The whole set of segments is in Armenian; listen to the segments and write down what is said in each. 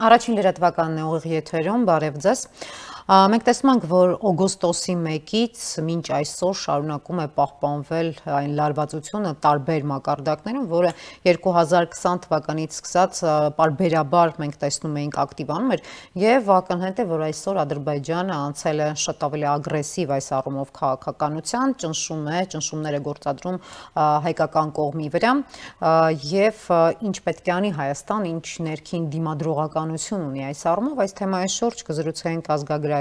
Առաջին լրատվականն է ուղիղ եթերում, բարև ձեզ։ Մենք տեսնում ենք, որ օգոստոսի 1-ից մինչ այսօր շարունակում է պահպանվել այն լարվածությունը տարբեր մակարդակներում, որը 2020 թվականից սկսած պարբերաբար մենք տեսնում էինք ակտիվանում էր, եւ ակնհայտ է, որ այսօր Ադրբեջանը անցել է շատ ավելի ագրեսիվ այս առումով քաղաքականության, ճնշումներ է գործադրում հայկական կողմի վրա, եւ ինչ պետք է անի Հայաստան, ինչ ներքին դիմադրողականություն ունի այս առումով, այս թեմայի շուրջ կզրուցենք ազգագրագետ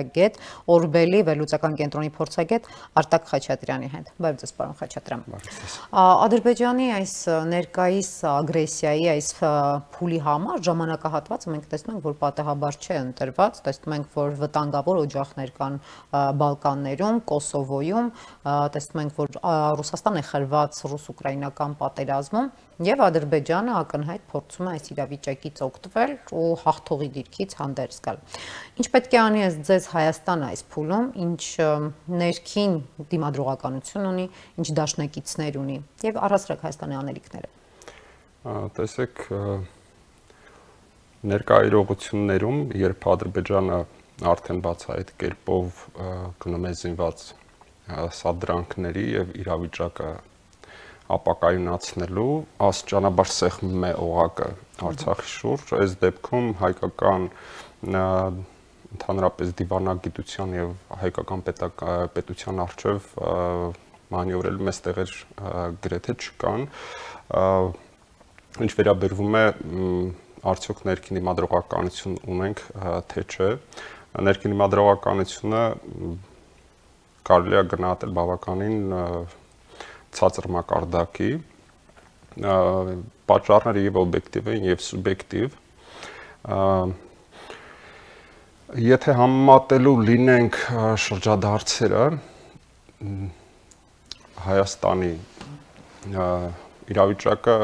Օրբելի վերլուծական կենտրոնի փորձագետ Արտակ Խաչատրյանի հետ։ Բարև ձեզ, պարոն Խաչատրյան։ Ադրբեջանի այս ներկայիս ագրեսիայի, այս փուլի համար ժամանակահատվածը մենք տեսնում ենք, որ պատահաբար չէ ընտրված, տեսնում ենք, որ վտանգավոր օջախներ կան Բալկաններում, Կոսովոյում, տեսնում ենք, որ Ռուսաստան է խրված ռուս-ուկրաինական պատերազմում, եւ Ադրբեջանը ակնհայտ փորձում է այս իրավիճակից օգտվել ու հաղթողի դիրքից հանդերձ գալ։ Ինչ պետք է անի ձեզ Հայաստանը այս փուլում, ինչ ներքին դիմադրողականություն ունի, ինչ դաշնակիցներ ունի եւ առհասարակ Հայաստանի անելիքները։ Տեսեք, ներկա իրողություններում, երբ Ադրբեջանը արդեն բացահայտ կերպով գնում է զինված սադրանքների եւ իրավիճակը ապակայունացնելու աստիճանաբար սեղմում է օղակը Արցախի շուրջ, այս դեպքում հայկական ընդհանրապես դիվանագիտության եւ հայկական պետության արչեւ մանևրելու մեծ տեղեր գրեթե չկան, ինչ վերաբերվում է արդյոք ներքին դիմադրողականություն ունենք, թե չէ, ներքին դիմադրողականությունը կարելի է գնահատել բավականին ցածր մակարդակի, պատճառները եւ օբյեկտիվ են եւ սուբյեկտիվ, եթե համեմատելու լինենք շրջադարձերը Հայաստանի իրավիճակը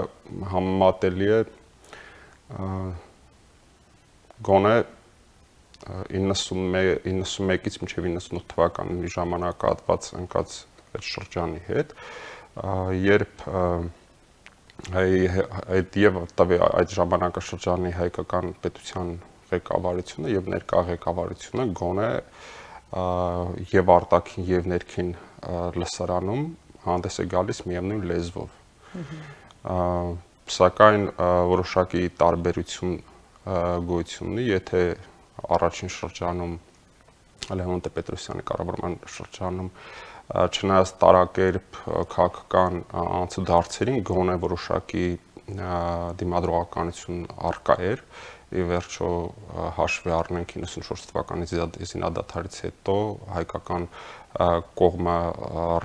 համեմատելի է գոնե 91-ից մինչև 98 թվականների ժամանակահատված ընկած այդ շրջանի հետ, երբ այդ ժամանակաշրջանի հայկական պետության ղեկավարությունը եւ ներկա ղեկավարությունը գոնե եւ արտաքին եւ ներքին լսարանում հանդես է գալիս միևնույն լեզվով։ Սակայն որոշակի տարբերություն գոյություն ունի, եթե առաջին շրջանում Լևոն Տեր-Պետրոսյանի կառավարման շրջանում չնայած տարակերպ քաղաքական անցուդարձերին գոնե որոշակի դիմադրողականություն առկա էր, ի վերջո հաշվի առնենք 94 թվականի զինադադարից հետո հայկական կողմը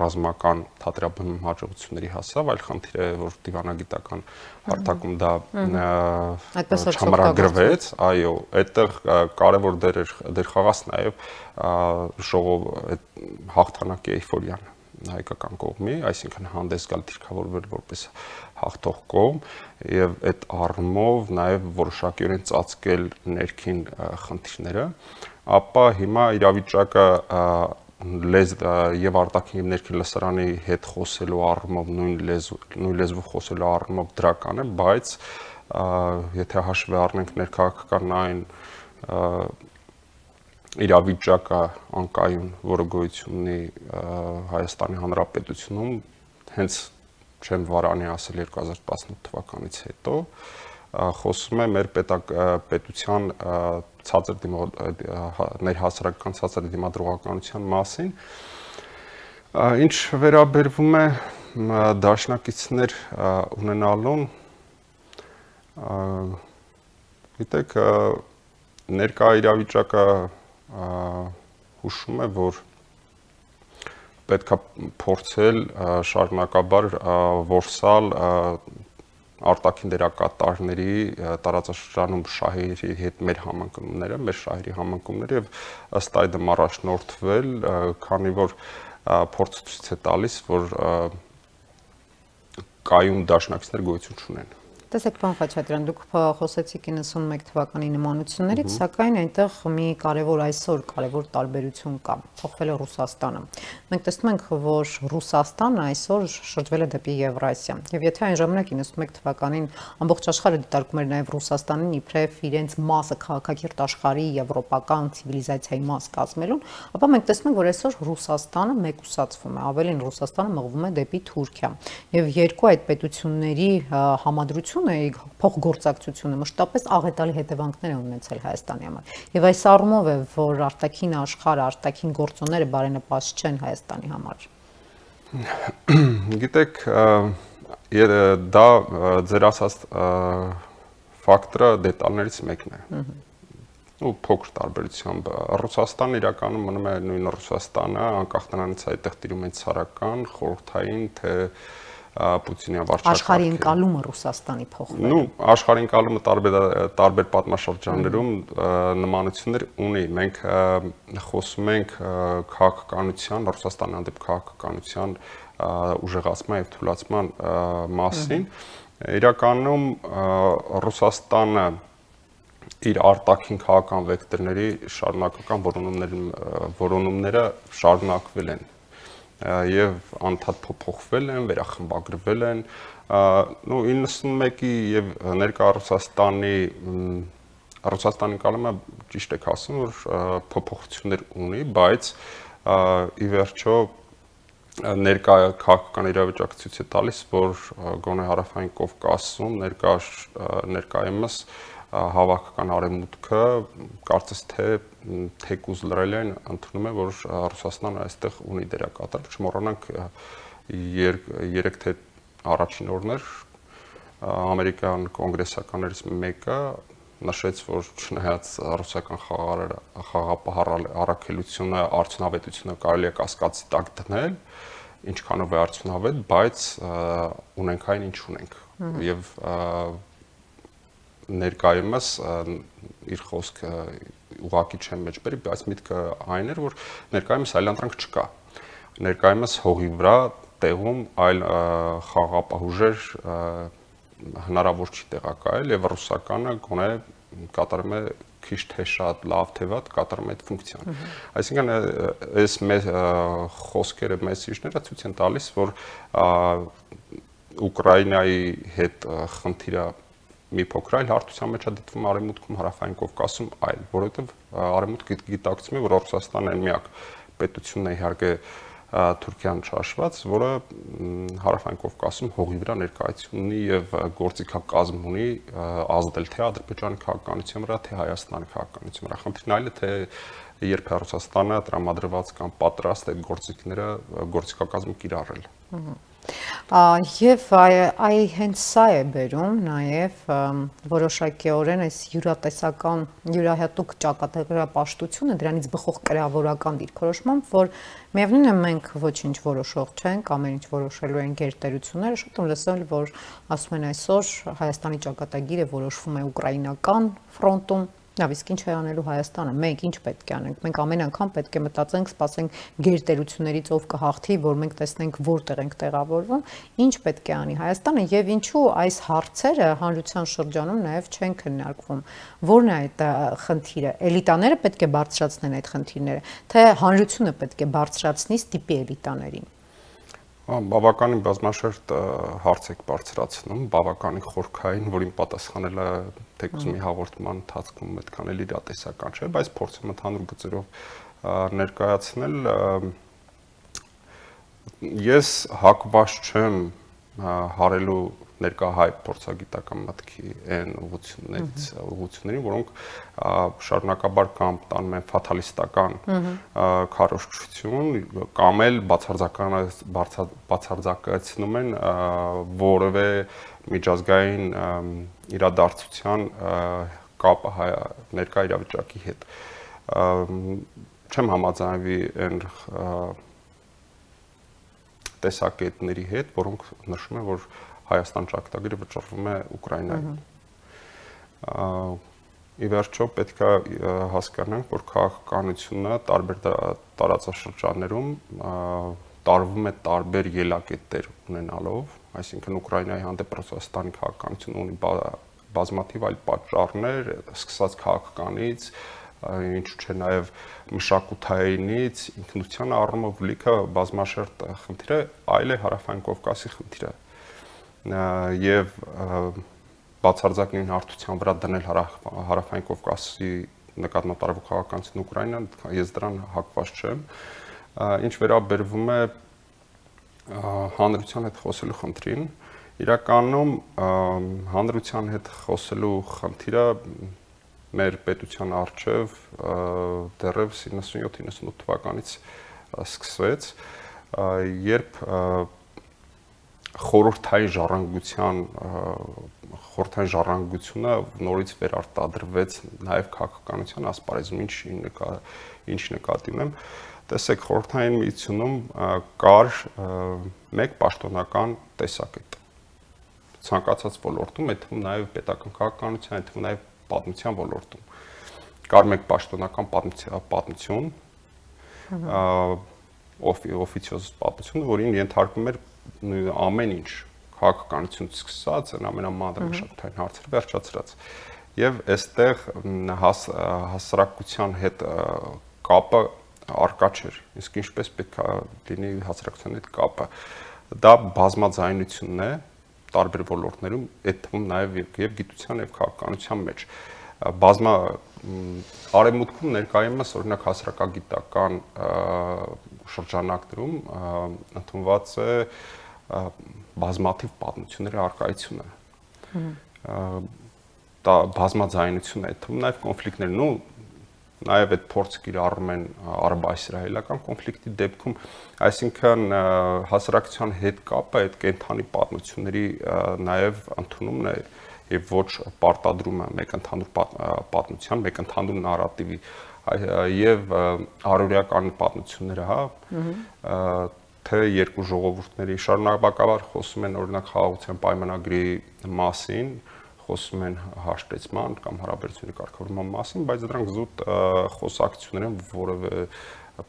ռազմական թատերաբնում հաջողությունների հասավ, այլ խնդիր է, որ դիվանագիտական հարթակում դա չամրագրվեց, այո, այդտեղ կարևոր դեր խաղաց նաև հաղթանակի էյֆորիան հայկական կողմի, այսինքն հանդես գալ դիրքավորվել որպես հաղթող կողմ եւ այդ առումով նաեւ որոշակիորեն ծածկել ներքին խնդիրները, ապա հիմա իրավիճակը եւ արտաքին եւ ներքին լսարանի հետ խոսելու առումով նույն լեզվով խոսելու առումով դրական է, բայց եթե հաշվի առնենք ներքաղաքական այն իրավիճակը անկայուն, որը գոյություն ունի Հայաստանի Հանրապետությունում, հենց չեմ վարանի ասել 2018 թվականից հետո, խոսում է մեր պետության ներհասարակական ցածր դիմադրողականության մասին, ինչ վերաբերվում է դաշնակիցներ ունենալուն, գիտեք, ներկա իրավիճակը հուշում է, որ պետք է փորձել շարունակաբար որսալ արտաքին դերակատարների տարածաշրջանում շահերի հետ մեր համընկնումները, մեր շահերի համընկնումները եւ ըստ այդմ առաջնորդվել, քանի որ փորձ ցույց է տալիս, որ կայուն դաշնակիցներ գոյություն չունեն Տեսեք, պարոն Խաչատրյան, դուք խոսեցիք 91 թվականի նմանություններից, սակայն այնտեղ մի այսօր կարևոր տարբերություն կա, փոխվել է Ռուսաստանը։ Մենք տեսնում ենք, որ Ռուսաստանը այսօր շրջվել է դեպի Եվրասիա։ Եվ եթե այն ժամանակ 91 թվականին ամբողջ աշխարհը դիտարկում էր նաև Ռուսաստանին իբրև իրենց մասը քաղաքակիրթ աշխարհի եվրոպական ցիվիլիզացիայի մաս կազմելուն, ապա մենք տեսնում ենք, որ այսօր Ռուսաստանը մեկուսացվում է, ավելին Ռուսաստանը մղվում է դեպի Թուրքիա։ Եվ երկու այդ պետությունների համադրությունը, փոխգործակցությունը մշտապես աղետալի հետևանքներ է ունեցել Հայաստանի համար։ Եվ այս առումով է, որ արտաքին աշխարհը, արտաքին գործոնները բարենպաստ չեն Հայաստանի համար։ Գիտեք, դա ձեր ասած ֆակտորը դետալներից մեկն է։ Ու փոքր տարբերությամբ Ռուսաստանը իրականում մնում է նույն Ռուսաստանը, անկախ նրանից այդտեղ տիրում է ցարական, խորհրդային, թե Պուտինյան վարչակարգի։ Աշխարհի ընկալումը Ռուսաստանի փոխվել։ Նու աշխարհի ընկալումը տարբեր պատմաշրջաններում նմանություններ ունի։ Մենք խոսում ենք քաղաքականության, Ռուսաստանի հանդեպ քաղաքականության ուժեղացման եւ թուլացման մասին։ Իրականում Ռուսաստանը իր արտաքին քաղաքական վեկտորների շարունակական որոնումները շարունակվել են եւ անդադ փոփոխվել են, վերախմբագրվել են։ 91-ի եւ ներկա Ռուսաստանի կալումը ճիշտ եք ասում, որ փոփոխություններ ունի, բայց ի վերջո ներկա քաղաքական իրավիճակը ցույց է տալիս, որ գոնե հարավային Կովկասում ներկայումս հավաքական արևմուտքը կարծես թե թեկուզ լրել են ընդունում է, որ Ռուսաստանը այստեղ ունի դերակատար։ Չմոռանանք 3 թե առաջին օրներ ամերիկյան կոնգրեսականներից մեկը նշեց, որ չնայած ռուսական խաղապահ առաքելությունը, արդյունավետությունը կարելի է կասկածի տակ դնել, ինչքանով է արդյունավետ, բայց ունենք այն, ինչ ունենք։ Եվ ներկայումս իր խոսքը ուղղակի չեմ մեջբերի, բայց միտքը այն էր, որ ներկայումս այլանդրանք չկա։ Ներկայումս հողի վրա տեղում այլ խաղապահ ուժեր հնարավոր չի տեղակայել եւ ռուսականը գոնե կատարում է քիչ թե շատ, լավ թե վատ կատարում է այդ ֆունկցիան։ Այսինքն այս խոսքերը, մեսիջները ցույց են տալիս, որ Ուկրաինայի հետ խնդիրը մի փոքր այլ հարթության մեջ է դիտվում Արևմուտքում, Հարավային Կովկասում այլ, որովհետև Արևմուտքը գիտակցում է, որ Ռուսաստանն է միակ պետությունն է իհարկե Թուրքիան չհաշված, որը Հարավային Կովկասում հողի վրա ներկայություն ունի եւ գործիքակազմ ունի ազդել թե Ադրբեջանի քաղաքականության վրա, թե Հայաստանի քաղաքականության վրա։ Խնդիրն այլ է, թե երբ է Ռուսաստանը տրամադրված կամ պատրաստ այդ գործիքակազմը կիրառել։ Եվ հենց սա է բերում նաև որոշակիորեն այս յուրատեսական, յուրահատուկ ճակատագրապաշտությունը, դրանից բխող կրավորական դիրքորոշմամբ, որ միևնույն է մենք ոչինչ որոշող չենք, ամեն ինչ որոշելու են գերտերությունները, շատ եմ լսել, որ ասում են այսօր Հայաստանի ճակատագիրը որոշվում է ուկրաինական ֆրոնտում, լավ, իսկ ինչ է անելու Հայաստանը, մենք ինչ պետք է անենք, մենք ամեն անգամ պետք է մտածենք, սպասենք գերտերություններից ով կհաղթի, որ մենք տեսնենք որտեղ ենք տեղավորվում, ինչ պետք է անի Հայաստանը եւ ինչու այս հարցերը հանրության շրջանում նաեւ չեն քննարկվում, որն է այդ խնդիրը, էլիտաները պետք է բարձրացնեն այդ խնդիրները, թե հանրությունը պետք է բարձրացնի ստիպի էլիտաներին։ Բավականին բազմաշերտ հարց եք բարձրացնում, բավականին խորքային, որին պատասխանելը թեկուզ մի հաղորդման ընթացքում այդքան էլ իրատեսական չէ, բայց փորձեմ ընդհանուր գծերով ներկայացնել։ Ես հակված չեմ հարելու ներկա հայ փորձագիտական մտքի այն ուղղություններին, որոնք շարունակաբար կամ տանում են ֆաթալիստական քարոզչություն, կամ էլ բացարձակացնում են որևէ միջազգային իրադարձության կապը ներկա իրավիճակի հետ։ Չեմ համաձայնվի այն տեսակետների հետ, որոնք նշում են, որ Հայաստան ճակատագիրը վճռվում է Ուկրաինայում։ Ի վերջո պետք է հասկանանք, որ քաղաքականությունը տարբեր տարածաշրջաններում տարվում է տարբեր ելակետեր ունենալով, այսինքն Ուկրաինայի հանդեպ Ռուսաստանի քաղաքականությունը ունի բազմաթիվ այլ պատճառներ, սկսած քաղաքականից, ինչու՞ չէ նաև մշակութայինից, ինքնության առումով լիքը բազմաշերտ խնդիր է, այլ է Հարավային Կովկասի խնդիրը։ Եվ բացարձակին հարթության վրա դնել Հարավային Կովկասի նկատմամբ տարվող քաղաքականություն Ուկրաինան, ես դրան հակված չեմ։ Ինչ վերաբերվում է հանրության հետ խոսելու խնդրին, իրականում հանրության հետ խոսելու խնդիրը մեր պետության առջև դեռևս 97-98 թվականից սկսվեց, երբ խորհրդային ժառանգությունը նորից վերարտադրվեց նաև քաղաքականության ասպարեզում, ինչ նկատի ունեմ։ Տեսեք, խորհրդային միությունում կար մեկ պաշտոնական տեսակետ։ Ցանկացած ոլորտում, այդ թվում նաև պետական քաղաքականության, այդ թվում նաև պատմության ոլորտում կար մեկ պաշտոնական պատմություն, օֆիցիոզ պատմություն, որին ենթարկվում էր ամեն ինչ, քաղաքականությունից սկսած, ամենամանրամասնային հարցեր վերջացրած։ Եվ այստեղ հասարակության հետ կապը արկա չէր, իսկ ինչպես պետք է լինի հասարակության հետ կապը։ Դա բազմաձայնությունն է տարբեր ոլորտներում, այդ թվում նաև եւ գիտության եւ քաղաքականության մեջ։ Արևմուտքում ներկայումս օրինակ հասարակագիտական շրջանակներում ընդունված է բազմաթիվ պատմությունների առկայությունը։ Դա բազմաձայնություն է, այդ թվում նաև կոնֆլիկտներն ու նաև այդ փորձը կիրառում են արաբ-իսրայելական կոնֆլիկտի դեպքում, այսինքն հասարակության հետ կապը այդ կենթանի պատմությունների նաև ընդունումն է եւ ոչ պարտադրումը մեկ ընդհանուր պատմության, մեկ ընդհանուր նարատիվի եւ առօրյական պատմությունները, թե երկու ժողովուրդների շարունակաբար խոսում են օրինակ խաղաղության պայմանագրի մասին, խոսում են հաշտեցման կամ հարաբերությունների կարգավորման մասին, բայց դրանք զուտ խոսակցություններ են, որևէ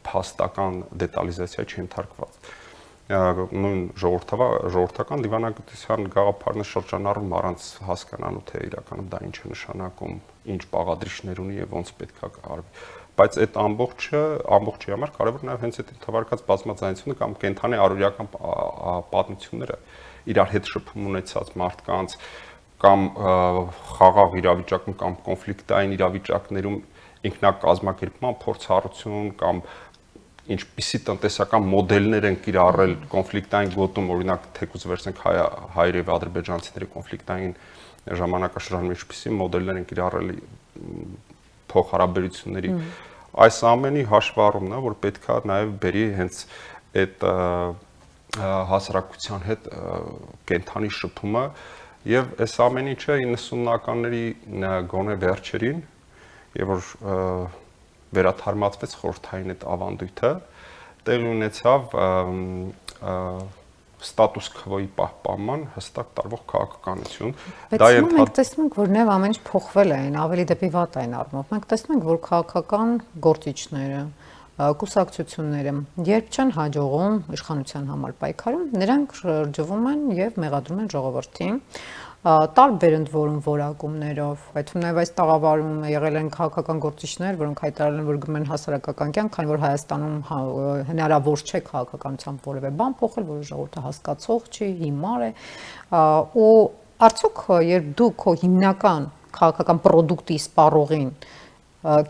փաստական դետալիզացիա չենթարկված։ Նույն ժողովրդական դիվանագիտության գաղափարն է շրջանառում առանց հասկանալու, թե իրականում դա ինչ է նշանակում, ինչ բաղադրիչներ ունի եւ ոնց պետք է արվի։ Բայց այդ ամբողջի համար կարևոր նաեւ հենց այդ թվարկած բազմաձայնությունը կամ կենթանի առօրյական պատմությունները իրար հետ շփում ունեցած մարդկանց կամ խաղաղ իրավիճակում կամ կոնֆլիկտային իրավիճակներում ինքնակազմակերպման փորձառություն կամ ինչպիսի տնտեսական մոդելներ են կիրառել կոնֆլիկտային գոտում, օրինակ թեկուզ վերցնենք հայեր եւ ադրբեջանցիների կոնֆլիկտային ժամանակաշրջանում ինչպիսի մոդելներ են կիրառել փոխհարաբերությունների, այս ամենի հաշվառումն է, որ պետքա նաեւ բերի հենց այդ հասարակության հետ կենթանի շփումը եւ այս ամեն ինչը 90-ականների գոնե վերջերին եւ որ վերաթարմացվեց խորհրդային այդ ավանդույթը, տեղի ունեցավ ստատուս քվոյի պահպանման հստակ տարվող քաղաքականություն։ Դա մենք տեսնում ենք, որ նավ ամեն ինչ փոխվել է, ավելի դեպի վատ այն առումով։ Մենք տեսնում ենք, որ քաղաքական գործիչները, կուսակցությունները, երբ չեն հաջողում իշխանության համար պայքարում, նրանք շրջվում են եւ մեղադրում են ժողովրդին տարբեր ընդ որում որակումներով, այդ թվում նաև այս տաղավարում եղել են քաղաքական գործիչներ, որոնք հայտարարել են, որ գնում են հասարակական կյանք, քանի որ Հայաստանում հնարավոր չէ քաղաքականությամբ որևէ բան փոխել, որը ժողովուրդը հասկացող չի, հիմար է, ու արդյոք երբ դու քո հիմնական քաղաքական product-ի սպառողին,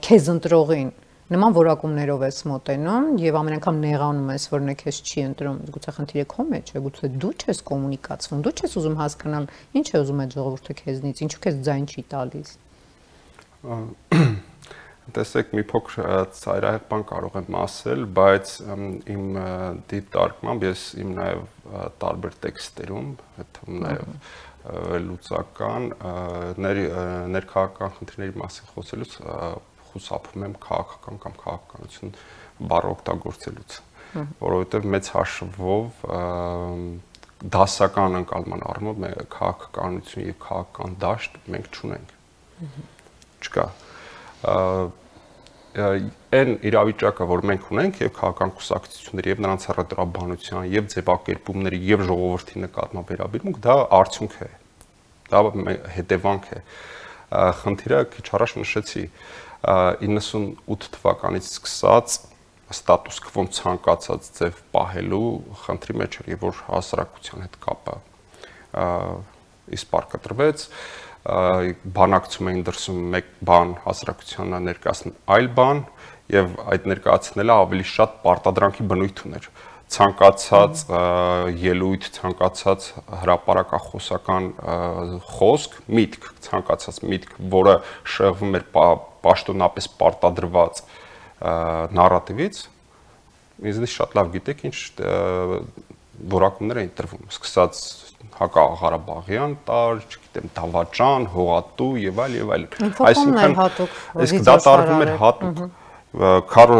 քեզ ընտրողին նման որակումներով ես մոտենում եւ ամեն անգամ նեղանում ես, որ նա քեզ չի ընտրում, գուցե խնդիրը քո մեջ է, գուցե դու չես կոմունիկացվում, դու չես ուզում հասկանալ ինչ է ուզում այդ ժողովուրդը քեզնից, ինչու քեզ ձայն չի տալիս։ Տեսեք, մի փոքր ծայրահեղ բան կարող եմ ասել, բայց իմ դիտարկմամբ ես իմ նաեւ տարբեր տեքստերում, այդ թվում նաեւ լուծական ներքաղաքական խնդիրների մասին խոսելուց խուսափում եմ քաղաքական կամ քաղաքականություն բառը օգտագործելուց, որովհետև մեծ հաշվով դասական ընկալման առումով քաղաքականություն եւ քաղաքական դաշտ մենք չունենք։ Չկա։ այն իրավիճակը, որ մենք ունենք եւ քաղաքական կուսակցությունների եւ նրանց հռետորաբանության եւ ձևակերպումների եւ ժողովրդի նկատմամբ վերաբերմունք, դա արդյունք է։ Դա հետևանք է։ Խնդիրը քիչ առաջ նշեցի 98 թվականից սկսած ստատուս քվոն ցանկացած ձև պահելու խնդրի մեջ էր եւ որ հասարակության հետ կապը իսպար կտրվեց, բանակցում էին դրսում մեկ բան, հասարակությանը ներկայացնել այլ բան եւ այդ ներկայացնելը ավելի շատ պարտադրանքի բնույթ ուներ։ Ցանկացած ելույթ, ցանկացած հրապարակախոսական խոսք, միտք, ցանկացած միտք, որը շեղվում էր պաշտոնապես պարտադրված նարատիվից, ինձնից շատ լավ գիտեք ինչ որակումներ էին տրվում, սկսած հակաղարաբաղյան տար, չգիտեմ, դավաճան, հողատու եւ այլ։ Այսինքն իսկ դա տարվում էր հատուկ, քարը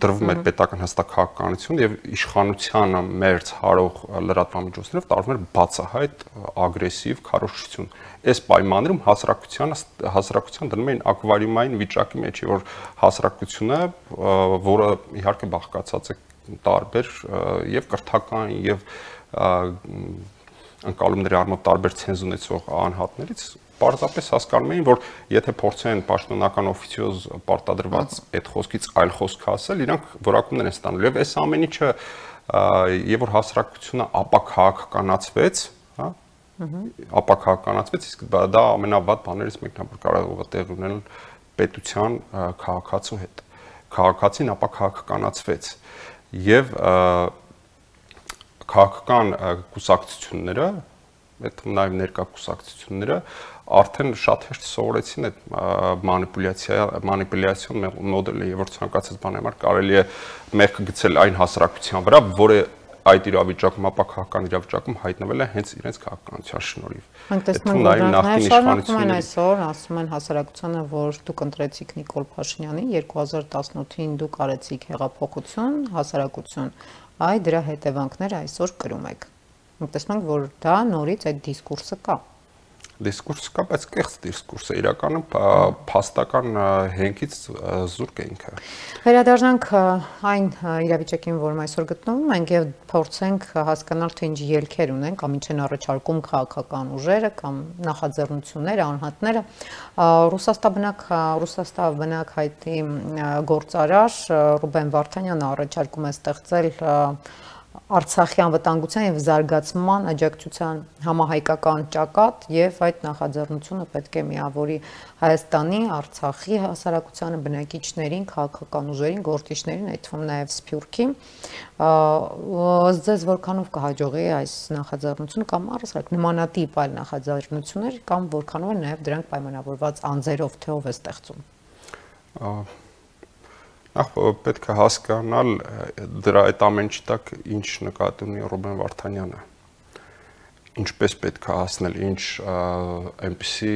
դրվում էր պետական հստակահականություն եւ իշխանությանը մերձ հարող լրատվամիջոցներով տարվում էր բացահայտ ագրեսիվ քարոզչություն։ Այս պայմաններում հասարակության դնում էին ակվարիումային վիճակի մեջ, որ հասարակությունը, որը իհարկե բաղկացած է տարբեր եւ կրթական եւ ընկալումների առումով տարբեր ցենզ ունեցող անհատներից պարզապես հասկանում էին, որ եթե փորձեն պաշտոնական օֆիցիոզ պարտադրված այդ խոսքից այլ խոսք ասել, իրանք որակումներ են ստանալու եւ այս ամեն ինչը եւ որ հասարակությունը ապաքաղաքականացվեց, հա, ապաքաղաքականացվեց, իսկ դա ամենավատ բաներից մեկն է, որ կարող է տեղ ունենալ պետության քաղաքացու հետ։ Քաղաքացին ապաքաղաքականացվեց եւ քաղաքական կուսակցությունները, այդ նաև ներկա կուսակցությունները արդեն շատ հեշտ սովորեցին այդ մանիպուլյացիոն մոդելը, եւ որ ցանկացած բանի համար կարելի է մեղք գցել այն հասարակության վրա, որը այդ իրավիճակում, ապաքաղաքական իրավիճակում հայտնվել է հենց իրենց քաղաքականության շնորհիվ։ Մենք տեսնում ենք, որ նախին իշխանությունները այսօր ասում են հասարակությանը, որ դուք ընտրեցիք Նիկոլ Փաշինյանին, 2018-ին դուք արեցիք հեղափոխություն, հասարակություն, այ դրա հետևանքները այսօր կրում եք։ Մենք տեսնում ենք, որ դա նորից այդ դիսկուրսը կա։ Դիսկուրսը կա, բայց կեղծ դիսկուրսը իրականում փաստական հենքից զուրկ է ինքը։ Վերադառնանք այն իրավիճակին, որում այսօր գտնվում ենք եւ փորձենք հասկանալ, թե ինչ ելքեր ունեն կամ ինչ են առաջարկում քաղաքական ուժերը կամ նախաձեռնությունները, անհատները։ Ռուսաստան բնակ հայտի գործարար Ռուբեն Վարդանյանը առաջարկում է ստեղծել Արցախյան վտանգության եւ զարգացման աջակցության համահայկական ճակատ եւ այդ նախաձեռնությունը պետք է միավորի Հայաստանի, Արցախի հասարակությանը, բնակիչներին, քաղաքական ուժերին, գործիչներին, այդ թվում նաեւ Սփյուռքի։ Ձեզ որքանով կհաջողի այս նախաձեռնությունը կամ առասարակ նմանատիպ այլ նախաձեռնություններ կամ որքանով են նաեւ դրանք պայմանավորված անձերով, թե ով է ստեղծում։ Նախ պետք է հասկանալ դրա այդ ամենի տակ ինչ նկատի ունի Ռուբեն Վարդանյանը, ինչպես պետք է հասնել, ինչ այնպիսի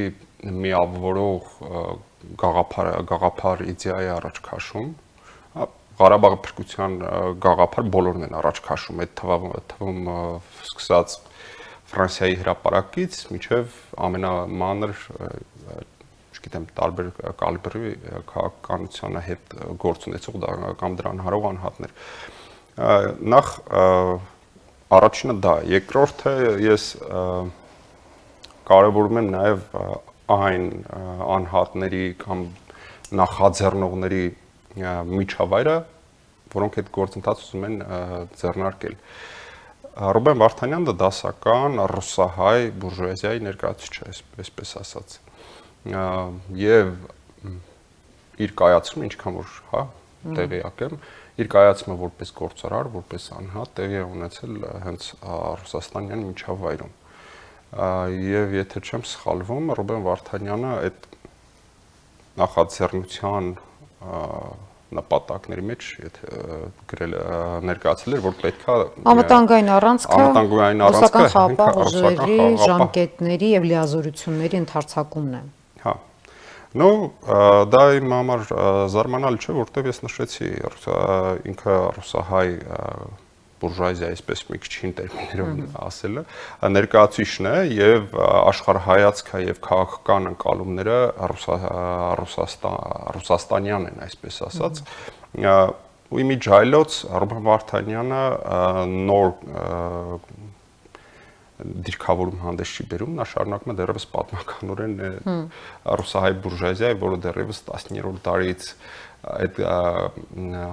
միավորող գաղափար իդեա է առաջ քաշում, Ղարաբաղի փրկության գաղափար բոլորն են առաջ քաշում, այդ թվում սկսած Ֆրանսիայի հրապարակից մինչև ամենամանր գիտեմ տարբեր կալիբրի քաղաքականության հետ գործ ունեցող կամ դրան հարող անհատներ։ Նախ առաջինը դա, երկրորդը ես կարևորում եմ նաև այն անհատների կամ նախաձեռնողների միջավայրը, որոնք այդ գործընթացը ուզում են ձեռնարկել։ Ռուբեն Վարդանյանը դասական ռուսահայ բուրժուազիայի ներկայացուցիչ է, այսպես ասած։ Եվ իր կայացումը ինչքան որ, հա, տեղյակ եմ, իր կայացումը որպես գործարար, որպես անհատ տեղի է ունեցել հենց Ռուսաստանյան միջավայրում։ Եվ եթե չեմ սխալվում, Ռուբեն Վարդանյանը այդ նախաձեռնության նպատակների մեջ գրել ներկայացել էր, որ պետքա անվտանգային առանցքը ռուսական խաղաղ ուժերի ժամկետների եւ լիազորությունների ընդարձակումն է։ Հա։ Նո, դա իմ համար զարմանալի չէ, որտեղ ես նշեցի ինքը ռուսահայ բուրժուազիա, այսպես մի քիչ հին տերմիններով ասելը, ներկայացուցիչն է եւ աշխարհայացքը եւ քաղաքական ընկալումները ռուսաստանյան են, այսպես ասած։ Ու իմիջայլոց Ռուբեն Վարդանյանը նոր դիրքավորում հանդես չի բերում, նա շարունակում է դեռևս պատմականորեն ռուսահայ բուրժուազիայի, որը դեռևս 19-րդ դարից այդ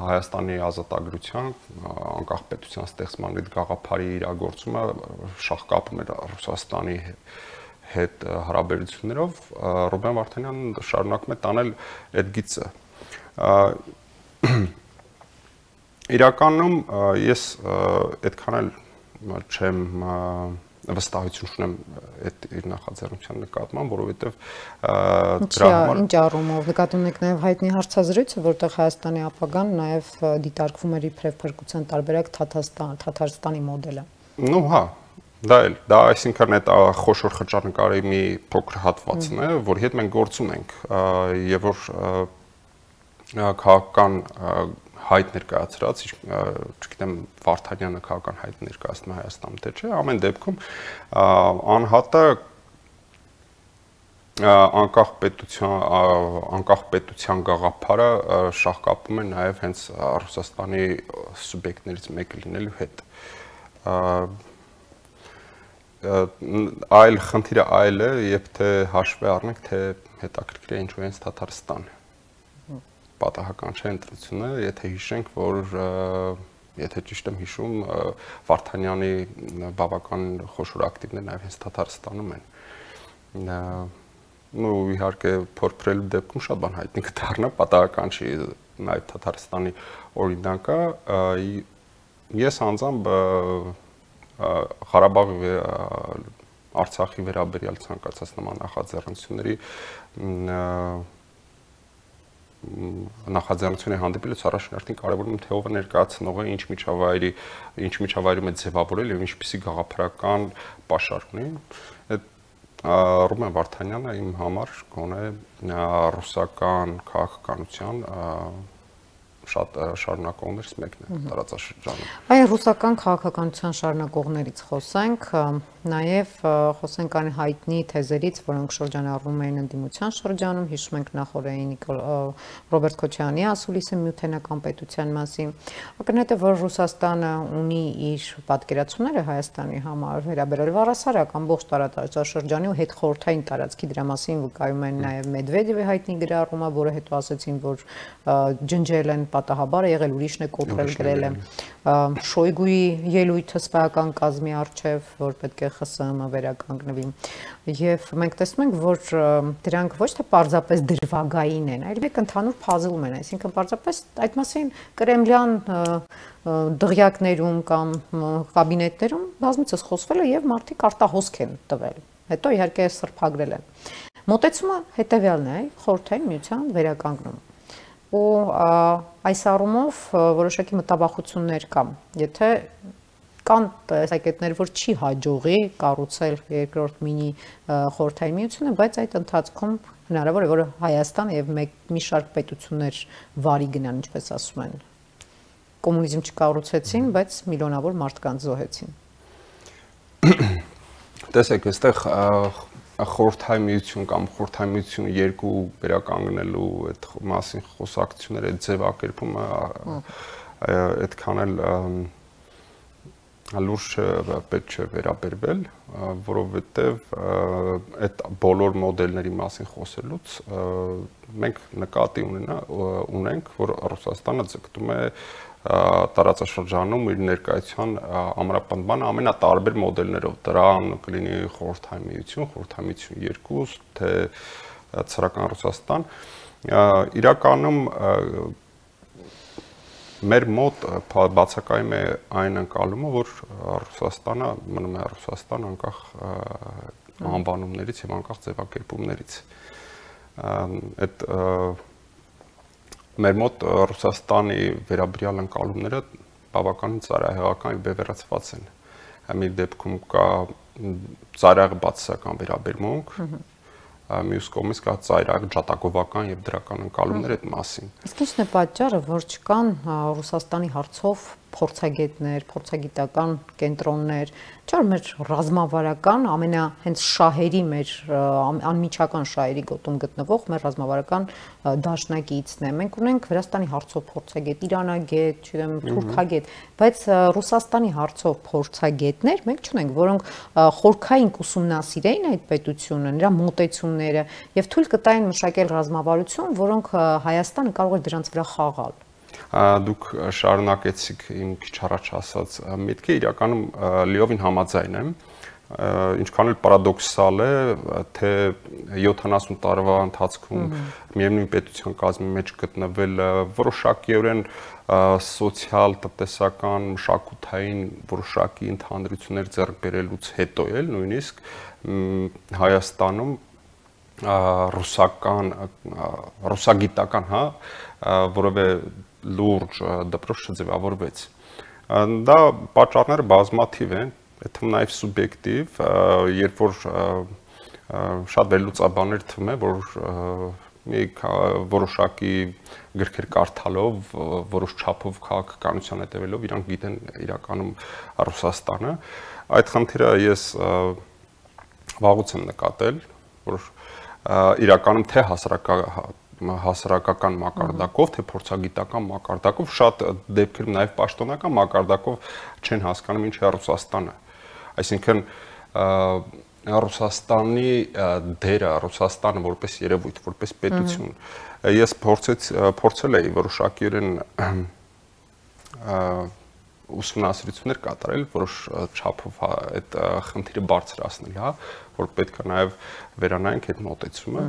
Հայաստանի ազատագրության, անկախ պետության ստեղծման այդ գաղափարի իրագործումը շահկապում էր Ռուսաստանի հետ հարաբերություններով, Ռուբեն Վարդանյանն շարունակում է տանել այդ գիծը։ Իրականում ես այդքան էլ չեմ վստահություն ունեմ այդ իր նախաձեռնության նկատմամբ, որովհետև դրա համար ինչ առումով նկատի ունեք նաև հայտնի հարցազրույցը, որտեղ Հայաստանի ապագան նաև դիտարկվում էր իբրև փրկության տարբերակ Թաթարստանի մոդելը։ Ну, հա, դա այսինքն այդ խոշոր խճանկարի մի փոքր հատվածն է, որի հետ մենք գործ ունենք, եւ որ քաղաքական հայտ ներկայացրած, չգիտեմ Վարդանյանը քաղաքական հայտ ներկայացնում Հայաստանում թե չէ, ամեն դեպքում անհատը անկախ պետության գաղափարը շահկապում է նաև հենց Ռուսաստանի սուբյեկտներից մեկը լինելու հետ։ Այլ խնդիրը այլ է, երբ թե հաշվի առնենք, թե հետաքրքիր է ինչու հենց Թաթարստանը։ Պատահական չէ ընտրությունը, եթե հիշենք, որ եթե ճիշտ եմ հիշում, Վարդանյանի բավական խոշոր ակտիվներ նաև հենց Թաթարստանում են։ Ну, իհարկե, փորփրելու դեպքում շատ բան հայտնի կդառնա, պատահական չի նաև Թաթարստանի օրինակը։ Ես անձամբ Ղարաբաղի Արցախի վերաբերյալ ցանկացած նման նախաձեռնությունների նախաձեռնությունը հանդիպելուց առաջին կարևորում թե ով է ներկայացնողը, ինչ միջավայրում է ձևավորել եւ ինչպիսի գաղափարական պաշար ունի։ Ռուբեն Վարդանյանը իմ համար գոնե ռուսական քաղաքականության շատ շարունակողներից մեկն է տարածաշրջանում։ Այո, ռուսական քաղաքականության շարունակողներից խոսենք, նաև խոսենք այն հայտնի թեզերից, որոնք շրջանառվում էին ընդդիմության շրջանում, հիշում ենք նախորդային Ռոբերտ Քոչարյանի ասուլիսը Միութենական պետության մասին։ Ակնհայտ է, որ Ռուսաստանը ունի իր պատկերացումները Հայաստանի համար վերաբերելով առասարակ ամբողջ տարածաշրջանի ու հետխորհրդային տարածքի, դրա մասին վկայում են նաև Մեդվեդևի հայտնի գրառումը, որը հետո ասացին, որ ջնջել են պատահաբար է եղել, ուրիշն է կոտրել, գրել է Շոյգուի ելույթը սպայական կազմի առջև, որ պետք է ԽՍՀՄ վերականգնվի։ Եվ մենք տեսնում ենք, որ դրանք ոչ թե պարզապես դրվագային են, այլ մեկ ընդհանուր փազլում են, այսինքն պարզապես այդ մասին կրեմլյան դղյակներում կամ կաբինետներում բազմիցս խոսվել է եւ մարդիկ արտահոսք են տվել։ Հետո իհարկե սրբագրել են։ Մոտեցումը հետեւյալն է, խորհրդային միության վերականգնում։ Ու այս առումով որոշակի մտավախություններ կան, եթե կան տեսակետներ, որ չի հաջողի կառուցել երկրորդ մինի խորհրդային միությունը, բայց այդ ընթացքում հնարավոր է, որ Հայաստան եւ մի շարք պետություններ վարի գնան, ինչպես ասում են, կոմունիզմ չկառուցեցին, բայց միլիոնավոր մարդկանց զոհեցին։ Տեսեք, այստեղ խորհրդային միություն կամ խորհրդային միությունը երկու վերականգնելու այդ մասին խոսակցությունները ձևակերպումը այդքան էլ լուրջ պետք չէ վերաբերվել, որովհետև այդ բոլոր մոդելների մասին խոսելուց մենք նկատի ունենք, որ Ռուսաստանը ձգտում է տարածաշրջանում իր ներկայության ամրապնդման ամենատարբեր մոդելներով, դրան կլինի խորհրդային միություն 2, թե ցրական Ռուսաստան, իրականում մեր մոտ բացակայում է այն ընկալումը, որ Ռուսաստանը մնում է Ռուսաստան անկախ անվանումներից եւ անկախ ձևակերպումներից։ Այդ մեր մոտ Ռուսաստանի վերաբերյալ ընկալումները բավականին ծայրահեղական եւ բևեռացված են։ Մի դեպքում կա ծայրահեղ բացասական վերաբերմունք, մյուս կողմից կա ծայրահեղ ջատագովական եւ դրական ընկալումներ այդ մասին։ Իսկ ի՞նչն է պատճառը, որ չկան Ռուսաստանի հարցով փորձագետներ, փորձագիտական կենտրոններ, չէ՞ որ մեր ռազմավարական հենց շահերի մեր անմիջական շահերի գոտում գտնվող մեր ռազմավարական դաշնակիցն է։ Մենք ունենք Վրաստանի հարցով փորձագետ, իրանագետ, չգիտեմ, թուրքագետ, բայց Ռուսաստանի հարցով փորձագետներ մենք չունենք, որոնք խորքային կուսումնասիրեին այդ պետությունը, նրա մոտեցումները եւ թույլ կտային մշակել ռազմավարություն, որոնք Հայաստանը կարող է դրանց վրա խաղալ։ Դուք շարունակեցիք իմ քիչ առաջ ասած միտքը, իրականում լիովին համաձայն եմ, ինչքան էլ պարադոքսալ է, թե 70 տարվա ընթացքում միևնույն պետության կազմի մեջ գտնվել որոշակիորեն սոցիալ, տնտեսական, մշակութային որոշակի ընդհանրություններ ձեռք բերելուց հետո էլ նույնիսկ Հայաստանում ռուսագիտական, որևէ լուրջ դպրոց չձևավորվեց։ Դա պատճառները բազմաթիվ են, թվում նաև սուբյեկտիվ, երբ որ շատ վերլուծաբաններ թվում է, որ մի որոշակի գրքեր կարդալով, որոշ չափով քաղաքականության հետևելով իրանք գիտեն իրականում Ռուսաստանը։ Այդ խնդիրը ես վաղուց եմ նկատել, որ իրականում թե հասարակական մակարդակով, թե փորձագիտական մակարդակով, շատ դեպքերում նաև պաշտոնական մակարդակով չեն հասկանում ինչ է Ռուսաստանը։ Այսինքն Ռուսաստանի դերը, Ռուսաստանը որպես երևույթ, որպես պետություն, ես փորձել էի որոշակիորեն ուսումնասիրություններ կատարել, որոշ չափով այդ խնդիրը բարձրացնել, որ պետք է նաև վերանայենք այդ մոտեցումը։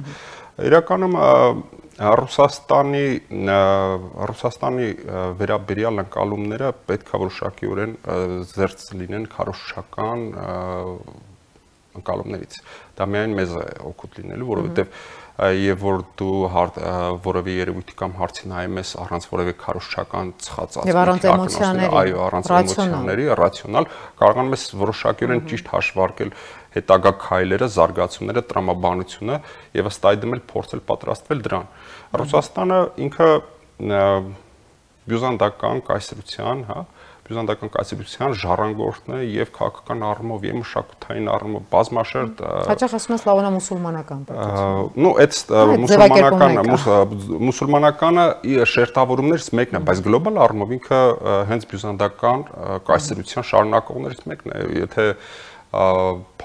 Իրականում Ռուսաստանի վերաբերյալ ընկալումները պետք է որոշակիորեն զերծ լինեն քարոզչական ընկալումներից։ Դա միայն մեզ է օգուտ լինելու, որովհետև եւ որ դու որևէ երևույթի կամ հարցի նայում ես առանց որևէ քարոզչական ծխածածկի, առանց էմոցիաների, այո, առանց էմոցիաների, ռացիոնալ, կարողանում ես որոշակիորեն ճիշտ հաշվարկել հետագա քայլերը, զարգացումները, տրամաբանությունը եւ ըստ այդմ էլ փորձել պատրաստվել դրան։ Ռուսաստանը ինքը բյուզանդական կայսրության, բյուզանդական կայսրության ժառանգորդն է եւ քաղաքական առումով եւ մշակութային առումով բազմաշերտ հաճախ ասում են սլավոնա-մուսուլմանական պետություն։ Ну, այդ մուսուլմանականը շերտավորումներից մեկն է, բայց գլոբալ առումով ինքը հենց բյուզանդական կայսրության շարունակողներից մեկն է։ Եթե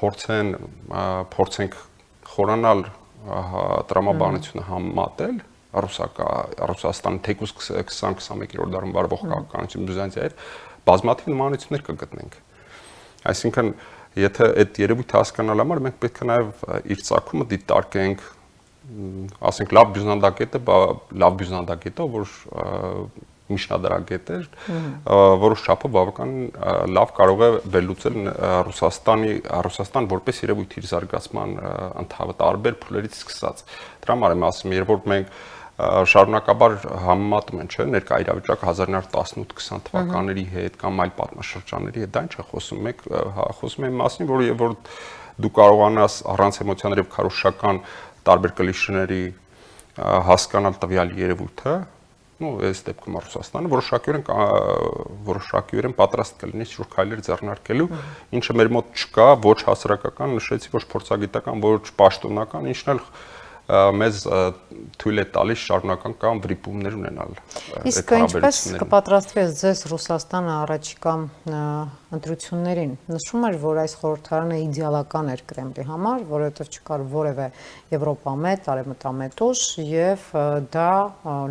փորձենք խորանալ տրամաբանությունը համատել Ռուսաստանի թեկուզ 20-21-րդ դարում վարվող քաղաքականություն Բյուզանդիայի հետ բազմաթիվ նմանություններ կգտնենք։ Այսինքն, եթե այդ երևույթը հասկանալ համար մենք պետք է նաև իր ծագումը դիտարկենք, ասենք լավ բյուզանդագետը, որ միջնադարագետ էր, որոշ չափով բավական լավ կարող է վերլուծել Ռուսաստան որպես երևույթ իր զարգացման տարբեր փուլերից սկսած։ Դրա համար եմ ասում, երբ որ մենք շարունակաբար համեմատում են, չէ՞, ներկա իրավիճակը 1918-20 թվականների հետ կամ այլ պատմաշրջանների հետ, դա ինչ է խոսում, մենք խոսում ենք մասին, որ երբ որ դու կարողանաս առանց էմոցիաների եւ քարոզչական տարբեր կլիշեների հասկանալ տվյալ երևույթը, ну, այս դեպքում Ռուսաստանը որոշակիորեն պատրաստ կլինի շուտ քայլեր ձեռնարկելու, ինչը մեր մոտ չկա, ոչ հասարակական, նշեցի, ոչ փորձագիտական, ոչ պաշտոնական, ինչն էլ մեզ թույլ է տալիս շարունակական կամ վրիպումներ ունենալ։ Իսկ ինչպես կպատրաստվի ձեզ Ռուսաստանը առաջիկա ընտրություններին։ Նշում էր, որ այս խորհրդարանը իդեալական էր Կրեմլի համար, որովհետև չկար որևէ եվրոպամետ, արևմտամետ ուժ եւ դա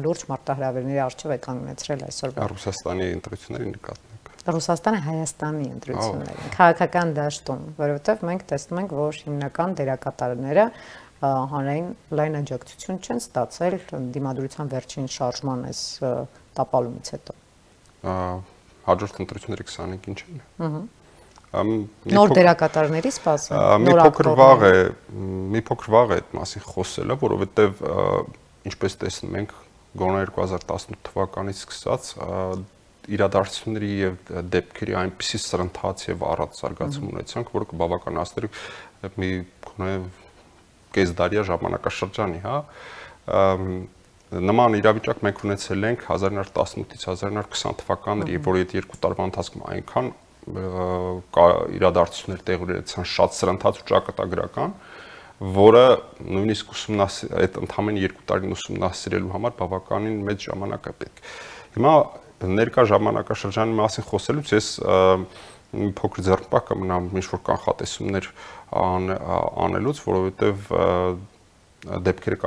լուրջ մարտահրավերների առջև է կանգնեցրել այսօրվա Ռուսաստանի ընտրություններին նկատմամբ։ Ռուսաստանը Հայաստանի ընտրություններին, քաղաքական դաշտում, որովհետև մենք տեսնում ենք, որ հիմնական դերակատարները հանրային լայն աջակցություն չեն ստացել դիմադրության վերջին շարժման այս տապալումից հետո։ Հաջորդ ընտրությունների 25-ին չեն։ Նոր դերակատարների սպասում։ Մի փոքր վաղ է այդ մասին խոսելը, որովհետև ինչպես տեսնում ենք, գոնե 2018 թվականից սկսած իրադարձությունների եւ դեպքերի այնպիսի սրընթաց եւ առած զարգացում ունեցանք, որ կբավականացնի մի գոնե կեսդարյա ժամանակաշրջանի, Նման իրավիճակ մենք ունեցել ենք 1918-ից 1920 թվականների, որ այդ երկու տարվա ընթացքում այնքան իրադարձություններ տեղի ունեցան շատ սրընթաց ու ճակատագրական, որը նույնիսկ այդ ընդամենը 2 տարին ուսումնասիրելու համար բավականին մեծ ժամանակ է պետք։ Հիմա ներկա ժամանակաշրջանի մասին խոսելուց ես փոքր ձեռնպահ կմնամ ինչ-որ կանխատեսումներ անելուց, որովհետև դեպքերը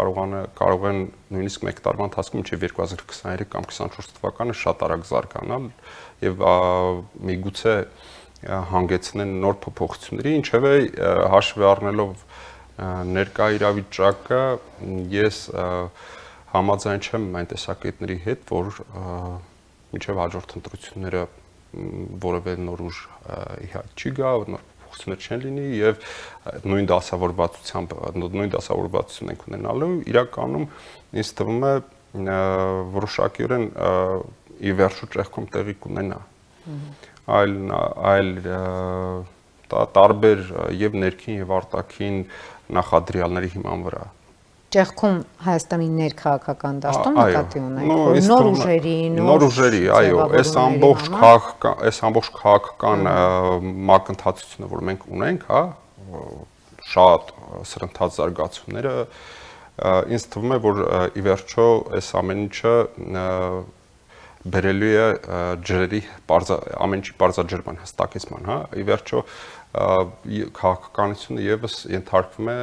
կարող են նույնիսկ մեկ տարվա ընթացքում մինչև 2023 կամ 24 թվականը շատ արագ զարգանալ եւ միգուցե հանգեցնեն նոր փոփոխությունների, ինչևէ հաշվի առնելով ներկա իրավիճակը ես համաձայն չեմ այն տեսակետների հետ, որ մինչև հաջորդ ընտրությունները որևէ նոր ուժ չի գա, նոր փոփոխություններ չեն լինի եւ նույն դասավորվածություն ենք ունենալու, իրականում ինձ թվում է որոշակիորեն ի վերջո ճեղքում տեղի կունենա։ Այլ տարբեր եւ ներքին եւ արտաքին նախադրյալների հիման վրա։ Ճեղքում Հայաստանի ներքաղաքական դաշտում նկատի ունենք նոր ուժերի, այո, այս ամբողջ քաղաքական մակընթացությունը, որ մենք ունենք, հա, շատ սրընթաց զարգացումները, ինձ թվում է, որ ի վերջո այս ամեն ինչը բերելու է ջրերի ամեն ինչի բարձրաձրման հստակեցման, հա, ի վերջո քաղաքականությունը եւս ենթարկվում է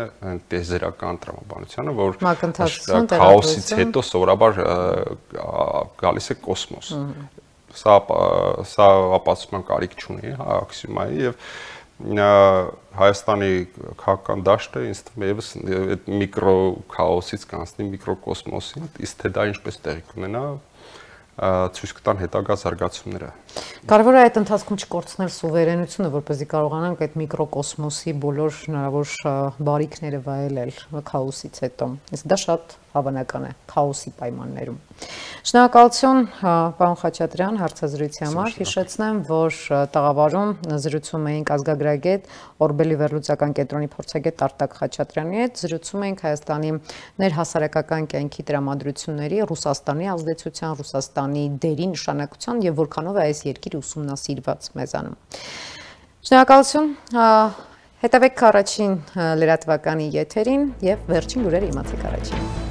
տեզերական տրամաբանությանը, որ քաոսից հետո սովորաբար գալիս է կոսմոս։ Սա ապացուցման կարիք չունի, հա, աքսիոմայի եւ Հայաստանի քաղաքական դաշտը ինձ թվում է եւս այդ միկրո քաոսից կանցնի միկրոկոսմոսին, իսկ թե դա ինչպես տեղի կունենա, ցույց կտան հետագա զարգացումները։ Կարևոր է այդ ընթացքում չկորցնել սուվերենությունը, որպեսզի կարողանանք այդ միկրոկոսմոսի բոլոր հնարավոր բարիքները վայելել քաոսից հետո։ Իսկ դա շատ հավանական է քաոսի պայմաններում։ Շնորհակալություն, պարոն Խաչատրյան, հարցազրույցի համար։ Հիշեցնեմ, որ տաղավարում զրուցում էինք ազգագրագետ Օրբելի վերլուծական կենտրոնի փորձագետ Արտակ Խաչատրյանի հետ, զրուցում էինք Հայաստանի ներհասարակական կյանքի տրամադրությունների, Ռուսաստանի ազդեցության, Ռուսաստանի դերի նշանակության եւ որքանով է այս երկիրը ուսումնասիրված մեզանում։ Շնորհակալություն, հետևեք առաջին լրատվականի եթերին եւ վերջին լուրերը իմացեք առաջին։